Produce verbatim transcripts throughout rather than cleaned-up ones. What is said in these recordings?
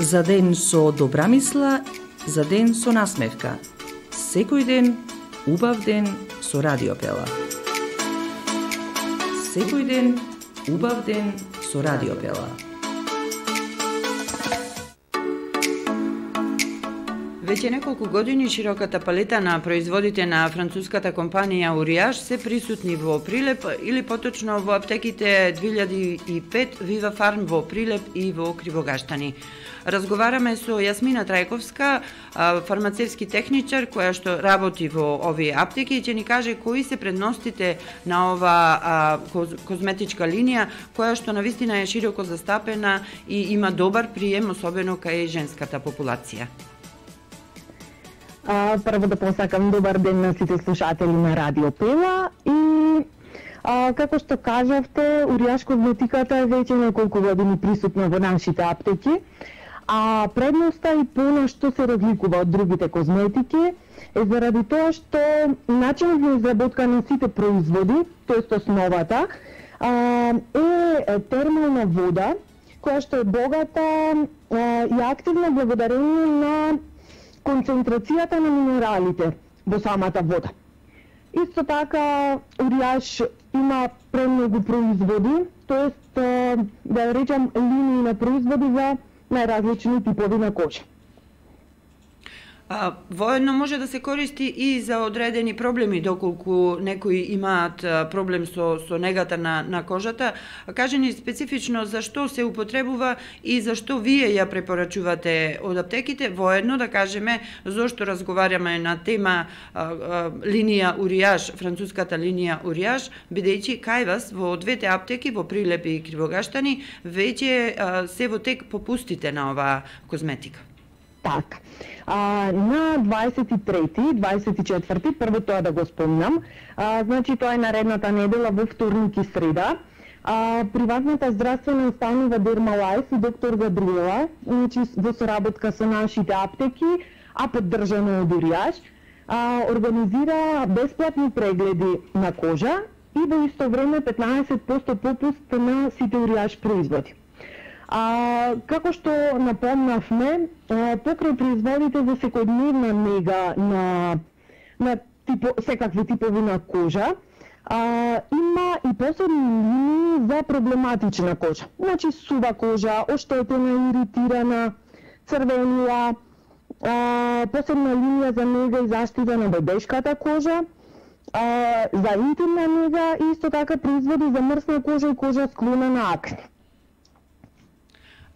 За ден со добра мисла, за ден со насмевка. Секој ден, убав ден со Радио Пела. Секој ден, убав ден со Радио Пела. Веќе неколку години широката палета на производите на француската компанија Уриаж се присутни во Прилеп или поточно во аптеките две илјади и пет, Вива Фарм во Прилеп и во Кривогаштани. Разговараме со Јасмина Трајковска, фармацевски техничар која што работи во овие аптеки и ќе ни каже кои се предностите на ова козметичка линија која што навистина е широко застапена и има добар прием, особено кај женската популација. А, прво да посакам добар ден на сите слушатели на Радио Пела и а, како што кажавте, Уриаж козметиката е веќе неколку години присутна во нашите аптеки, а предноста и по што се разликува од другите козметики е заради тоа што начинот на изработка на сите производи, тоест основата, а, е термална вода која што е богата а, и активна благодарение на концентрацијата на минералите во самата вода. Исто така, Уриаж има премногу производи, тоест, да речам, линии на производи за најразлични типови на кожа. А, воедно може да се користи и за одредени проблеми, доколку некои имаат проблем со, со негата на, на кожата. Кажи ни специфично зашто се употребува и зашто вие ја препорачувате од аптеките, воедно да кажеме зашто разговараме на тема а, а, линија Уриаж, француската линија Уриаж, бидејќи кај вас во двете аптеки, во Прилеп и Кривогаштани, веќе а, се во тек попустите на оваа козметика. Така. А, на дваесет и трети, дваесет и четврти, прво тоа да го спомнам, а, значи тоа е наредната недела во вторник и среда, а, приватната здравствена установа Дермалайф и доктор Габриела, значи во соработка со нашите аптеки, а поддржано од Уриаж, а, организира бесплатни прегледи на кожа и во исто време петнаесет проценти попуст на сите Уриаж производи. А, како што напомнавме, покрај производите за секојдневна нега на, на типо, секакви типови на кожа, а, има и посебни линии за проблематична кожа. Значи сува кожа, оштетена, иритирана, црвенила, а, посебна линија за нега и заштита на бебешката кожа, а, за интимна нега и исто така производи за мрсна кожа и кожа склона на акне.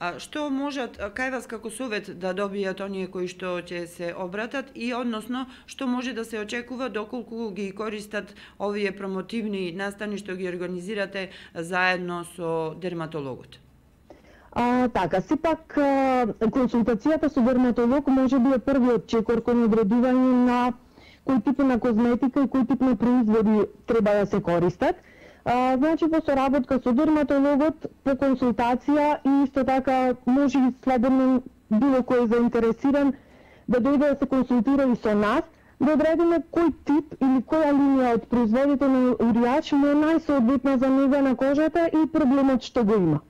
А што можат кај вас како совет да добијат оние кои што ќе се обратат и односно што може да се очекува доколку ги користат овие промотивни настани што ги организирате заедно со дерматологот? А, така, сепак консултацијата со дерматолог може би е првиот чекор кон одредување на кој тип на козметика и кој тип на производи треба да се користат. А, значи, во соработка со дерматологот, по консултација и исто така може и слободно било кој заинтересиран да дојде да се консултира и со нас, да одредиме кој тип или која линија од производите на Уриаж му е најсоодветна за нега на кожата и проблемот што го има.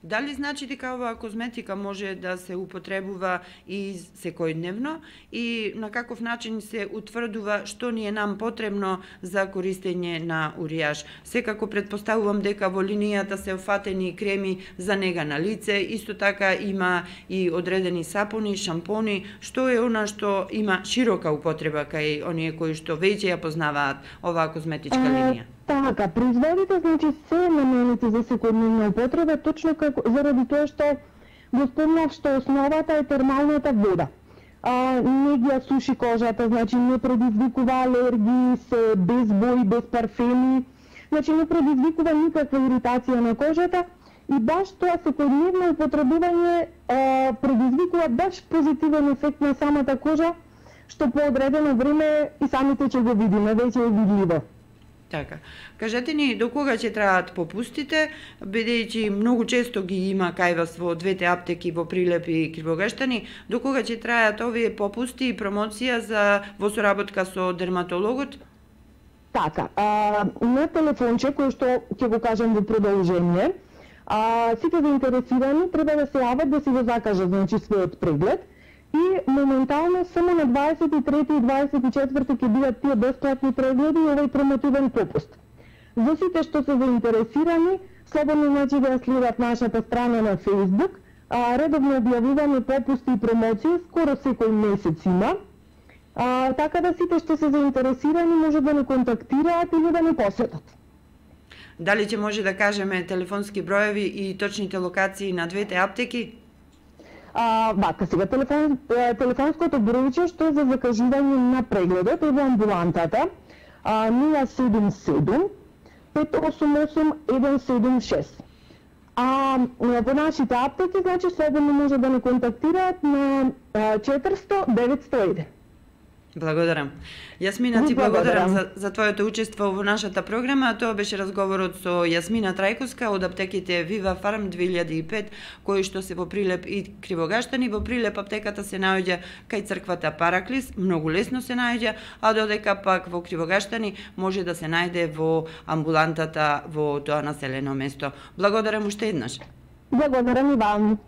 Дали значи дека оваа козметика може да се употребува и секојдневно и на каков начин се утврдува што ни е нам потребно за користење на Уриаж? Секако претпоставувам дека во линијата се офатени креми за нега на лице, исто така има и одредени сапуни, шампони, што е она што има широка употреба кај оние кои што веќе ја познаваат оваа козметичка линија? Така, производите значи се наменети за секојдневна употреба, точно како заради тоа што го спомнав што основата е термалната вода. А, не ги ја суши кожата, значи не предизвикува алергии, се без бои, без парфеми, значи не предизвикува никаква иритација на кожата и баш тоа секојдневно употребување а, предизвикува баш позитивен ефект на самата кожа, што по одредено време и самите ќе го видиме, веќе е видливо. Така. Кажете ни до кога ќе траат попустите, бидејќи многу често ги има кај вас во двете аптеки во Прилеп и Кривогаштани, до кога ќе траат овие попусти и промоција за во соработка со дерматологот? Така, а, на телефонче кој што ќе го кажам во продолжение, А, сите заинтересирани треба да се јават да си го закажат, значи својот преглед. И моментално само на дваесет и трети и дваесет и четврти ќе бидат тие бесплатни прегледи и овој промотивен попуст. За сите што се заинтересирани, слободно значи да ја следат нашата страна на Facebook, а, редовно објавуваме попусти и промоции, скоро секој месец има. А, така да сите што се заинтересирани може да не контактираат или да не посетат. Дали ќе може да кажеме телефонски броеви и точните локации на двете аптеки? А, вака сега, телефон, телефонското бројче што е за закажување на прегледот е во амбулантата а, нула седум седум пет осум осум еден седум шест. А во нашите аптеки, значи, слободно може да не контактираат на четиристо деветсто еден. Благодарам. Јасмина, ти благодарам за, за твоето учество во нашата програма. Тоа беше разговорот со Јасмина Трајковска од аптеките Viva Farm две илјади и пет, кои што се во Прилеп и Кривогаштани. Во Прилеп аптеката се наоѓа кај црквата Параклис, многу лесно се наоѓа, а додека пак во Кривогаштани може да се најде во амбулантата во тоа населено место. Благодарам уште еднаш. Благодарам и вам.